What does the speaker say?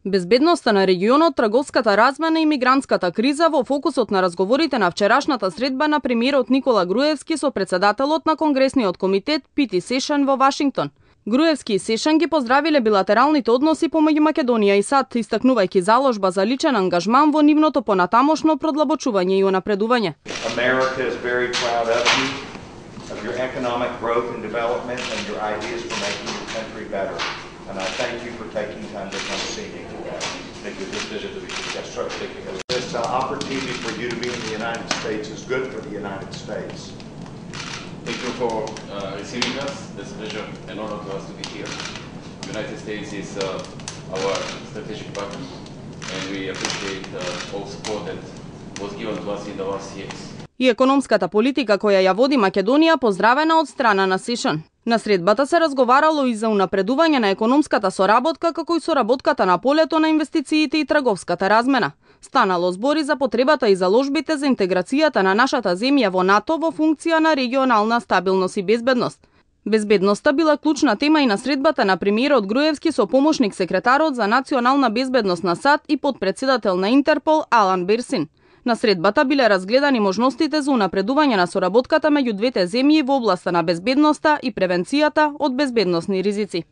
Безбедноста на регионот, трговската размена и мигрантската криза во фокусот на разговорите на вчерашната средба на премиерот Никола Груевски со председателот на Конгресниот комитет Пити Сешан во Вашингтон. Груевски и Сешан ги поздравиле билатералните односи помеѓу Македонија и САД, истакнувајќи заложба за личен ангажман во нивното понатамошно продлабочување и унапредување. America is very proud of your economic growth and development and your ideas for making your country better. And I thank you for taking time to come see me today. Thank you for this visit to be This opportunity for you to be in the United States is good for the United States. Thank you for receiving us. It's a pleasure and honor to us to be here. The United States is our strategic partner, and we appreciate all support that was given to us in the last years. И економската политика која ја води Македонија поздравена од страна на Сешан. На средбата се разговарало и за унапредување на економската соработка, како и соработката на полето на инвестициите и трговската размена. Станало збори за потребата и заложбите за интеграцијата на нашата земја во НАТО во функција на регионална стабилност и безбедност. Безбедноста била клучна тема и на средбата на премиерот Груевски со помошник секретарот за национална безбедност на САД и подпредседател на Интерпол Алан Берсин. На средбата биле разгледани можностите за унапредување на соработката меѓу двете земји во областа на безбедноста и превенцијата од безбедносни ризици.